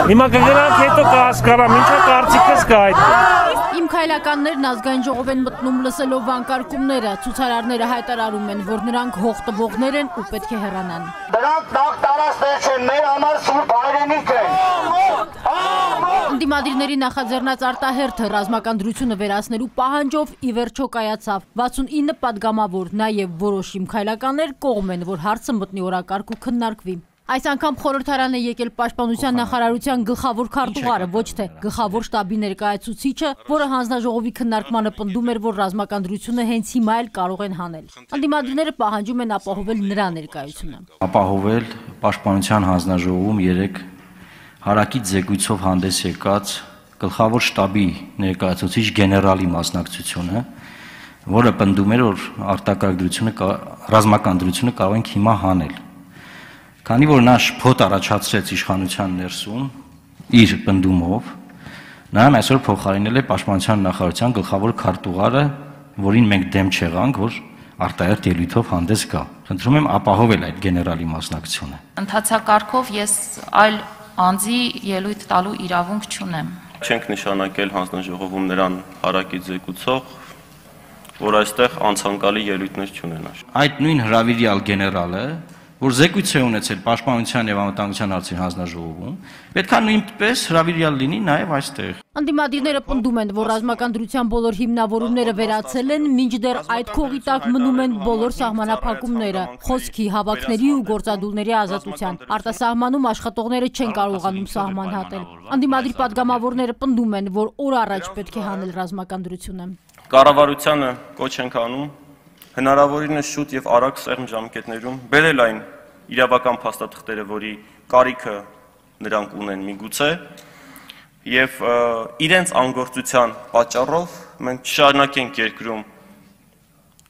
Հիմա կգրանք հետո կհասկանամ, ինչա կարծիքս կա այդ։ Իմ քայլականներն ազգային ժողով են մտնում լսելով վանկարկումները, ցուցարարները հայտարարում են, որ նրանք հող տվողներ են ու պետք է հեռանան։ Դրանք նախ տարածներ չեն, մեր համար սուրբ հայրենիք են։ Ընդդիմադիրների նախաձեռնած արտահերթը ռազմական դրությունը վերացնելու պահանջով ի վերջո կայացավ։ 69 պատգամավոր, նաև որոշ իմ քայլականներ կողմ են, որ հարցը մտնի օրակարգ ու քննարկվի։ Այս անգամ խորհրդարան է եկել Պաշտպանության նախարարության գլխավոր քարտուղարը, ոչ թե գլխավոր շտաբի ներկայացուցիչը, որը հանձնաժողովի քննարկմանը պնդում էր, որ ռազմական դրությունը հենց հիմա էլ կարող են հանել։ Ընդդիմադիրները պահանջում են ապահովել նրա ներկայությունը։ Ապահովել Պաշտպանության հանձնաժողովում 3 հարակից զեկույցով հանդես եկած գլխավոր շտաբի ներկայացուցիչ գեներալի մասնակցությունը, որը պնդում էր, որ արտակարգ դրությունը ռազմական դրությունը կարող ենք հիմա հանել։ Քանի որ նա շփոթ առաջացրեց իշխանության ներսում իր պնդումով, նրան այսօր փոխարինել է Պաշտպանության նախարարության գլխավոր քարտուղարը, որին մենք դեմ չեղանք, որ արտահերթ ելույթով հանդես գա։ Խնդրում եմ ապահովել այդ գեներալի մասնակցությունը։ Ընթացակարգով ես այլ անձի ելույթ տալու իրավունք չունեմ։ Չենք նշանակել հանձնաժողովում նրան հարակից զեկուցող, որ այստեղ անցանկալի ելույթներ չունենա։ Այդ նույն հրավիրյալ գեներալը, որ զեկույց է ունեցել Պաշտպանության եւ Անվտանգության հարցերի հանձնաժողովում, պետք է նույնպես հրավիրյալ լինի նաեւ այստեղ։ Ընդդիմադիրները պնդում են, որ ռազմական դրության բոլոր հիմնավորումները վերացել են, մինչդեռ այդ քողի տակ մնում են բոլոր սահմանափակումները, խոսքի, հավաքների ու գործադուլների ազատության։ Արտասահմանում աշխատողները չեն կարողանում սահման հատել։ Ընդդիմադիր պատգամավորները պնդում են, որ օր առաջ պետք է հանել ռազմական դրությունը։ Կառավարությանը կոչ ենք անում հնարավորինս շուտ եւ արագ սեղմ ժամկետներում բերել այն իրավական փաստաթղթերը, որի կարիքը նրանք ունեն միգուցե, եւ իրենց անգործության պատճառով մենք շարունակենք երկրում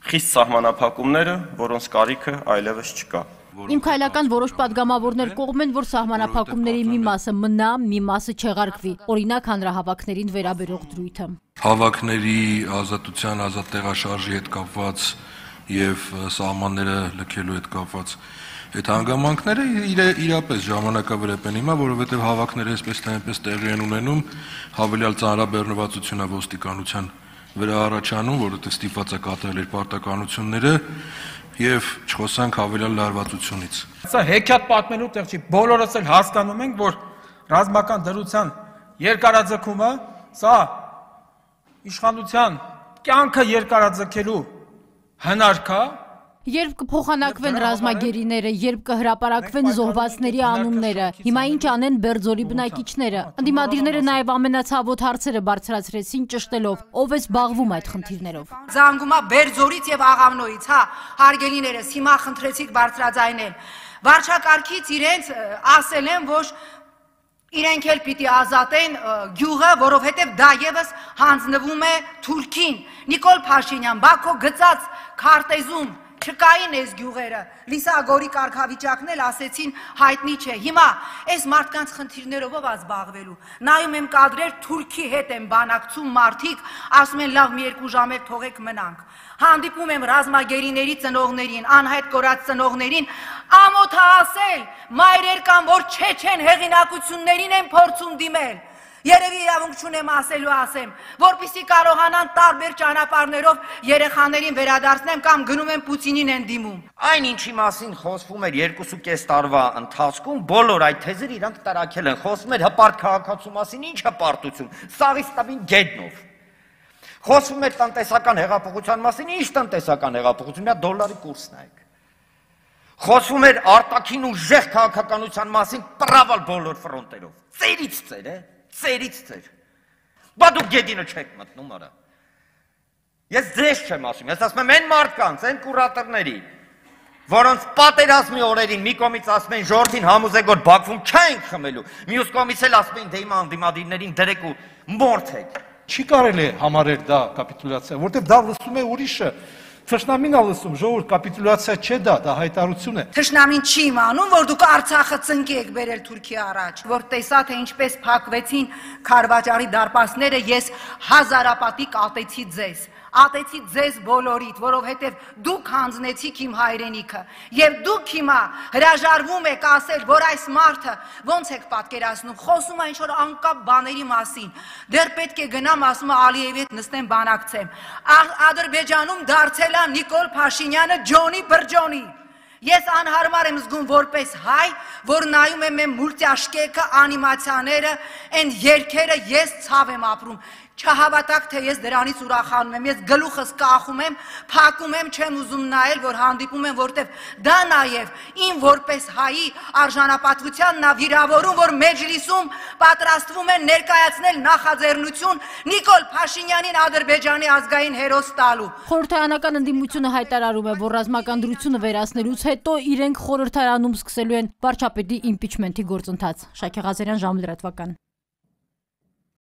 խիստ սահմանափակումները, որոնց կարիքը այլևս չկա։ Իմ քայլական որոշ պատգամավորներ կողմ են, որ սահմանափակումների մի մասը մնա, մի մասը չեղարկվի, օրինակ հանրահավաքներին վերաբերող դրույթը։ Հավաքների ազատության, ազատ տեղաշարժի հետ կապված եւ սահմանները լքելու հետ կապված այդ հանգամանքները իրապես ժամանակավրեպ են հիմա, որովհետեւ հավաքները այսպես թե այնպես տեղի են ունենում, հավելյալ ծանրաբեռնվածություն է ոստիկանության վրա առաջանում, որովհետեւ ստիպված է կատարել իր պարտականությունները եւ չխոսանք հավելյալ լարվածությունից։ Սա հեքիաթ պատմելու տեղ չի, բոլորս էլ հասկանում ենք, որ ռազմական դրության երկարաձգումը սա իշխանության կյանքը երկարաձգելու հնարք է։ Երբ կփոխանակվեն ռազմագերիները, երբ կհրապարակվեն զոհվածների անունները, հիմա ինչ անեն Բերձորի բնակիչները։ Ընդդիմադիրները նաև ամենացավոտ հարցերը բարձրացրեցին ճշտելով, ով է զբաղվում այդ խնդիրներով։ Զանգումա Բերձորից եւ Աղավնոյից, հա, հարգելիներս, հիմա խնդրեցիք բարձրաձայնել։ Վարչակարգից իրենց ասել են, որ իրենք էլ պիտի ազատեն գյուղը, որովհետև դա եւս հանձնվում է Թուրքին։ Նիկոլ Փաշինյան, Բաքո գծած քարտեզում չկային այս գյուղերը, Լիսագորի կարգավիճակն էլ ասեցին հայտնի չէ։ Հիմա այս մարդկանց խնդիրներով ով զբաղվելու։ Նայում եմ կադրեր, Թուրքի հետ են բանակցում մարդիկ, ասում են լավ մի 2 ժամ թողեք մնանք։ Հանդիպում եմ ռազմագերիների ծնողներին, անհայտ կորած ծնողներին, ամոթահասել, մայրեր կան, որ չեչեն հեղինակություններին են փորձում դիմել։ Երևի իրավունք չունեմ ասելու ասեմ, որպեսզի կարողանան տարբեր ճանապարհներով երեխաներին վերադարձնեմ կամ գնում են Պուտինին են դիմում։ Այն ինչի մասին խոսվում էր 2.5 տարվա ընթացքում, բոլոր այդ թեզերը իրանք տարակել են, խոսվում էր հպարտ քաղաքացու մասին, ինչ հպարտություն, սաղից տավին գետնով։ Խոսվում էր տնտեսական հեղափոխության մասին, ինչ տնտեսական հեղափոխություն, մի դոլարի կուրս նայեք։ Խոսվում էր արտաքին ուժեղ քաղաքականության մասին, պրավալ բոլոր ֆրոնտերով։ Ծերից ծեր, ծերից ծեր։ Բա դուք գեդինը չեք մտնում արա։ Ես ձեզ չեմ ասում, ես ասում եմ այն մարդկանց, այն կուրատորների, որոնց պատերազմի օրերին մի կողմից ասում են ժողովրդին համոզեք, որ Բաքվում չենք խմելու, մյուս կողմից էլ ասում են դե հիմա անդիմադիրներին դրեք ու մորթեք։ Չի կարելի համարել դա կապիտուլյացիա, որտեղ դա լսում է ուրիշը։ Թշնամին ա լսում, ժողովուրդ կապիտուլյացիա չէ դա հայտարարություն է։ Թշնամին չի իմանում, որ դուք Արցախը ծնկի եք բերել Թուրքիա առաջ, որ տեսա թե ինչպես փակվեցին Քարվաճարի դարպասները, ես հազարապատիկ ատեցի ձեզ։ ատեցի ձեզ բոլորիդ, որովհետև դուք հանձնեցիք իմ հայրենիքը, եւ դուք հիմա հրաժարվում եք ասել, որ այս մարդը ոնց եք պատկերացնում, խոսում է ինչ-որ անկապ բաների մասին, դեռ պետք է գնամ, ասում է Ալիևի հետ նստեմ բանակցեմ, Ադրբեջանում դարձել է Նիկոլ Փաշինյանը Ջոնի Բրջոնի, ես անհարմար եմ զգում որպես հայ, որ նայում եմ եմ մուլտիաշկեկը, անիմացիաները, այն երգերը, ես ցավ եմ ապրում, չհավատակ, թե ես դրանից ուրախանում եմ, ես գլուխս կախում եմ, փակում եմ, չեմ ուզում նայել, որ հանդիպում եմ, որտեվ դա նաև իմ որպես հայի արժանապատվությանն ա վիրավորում, որ Մեջլիսում պատրաստվում են ներկայացնել նախաձեռնություն Նիկոլ Փաշինյանին Ադրբեջանի ազգային հերոս տալու։ Խորհրդարանական ընդդիմությունը հայտարարում է, որ ռազմական դրությունը վերացնելուց հետո իրենք խորհրդարանում սկսելու են վարչապետի իմպիչմենթի գործընթաց։ Շաքե Ղազարյան, Ժամը լրատվական։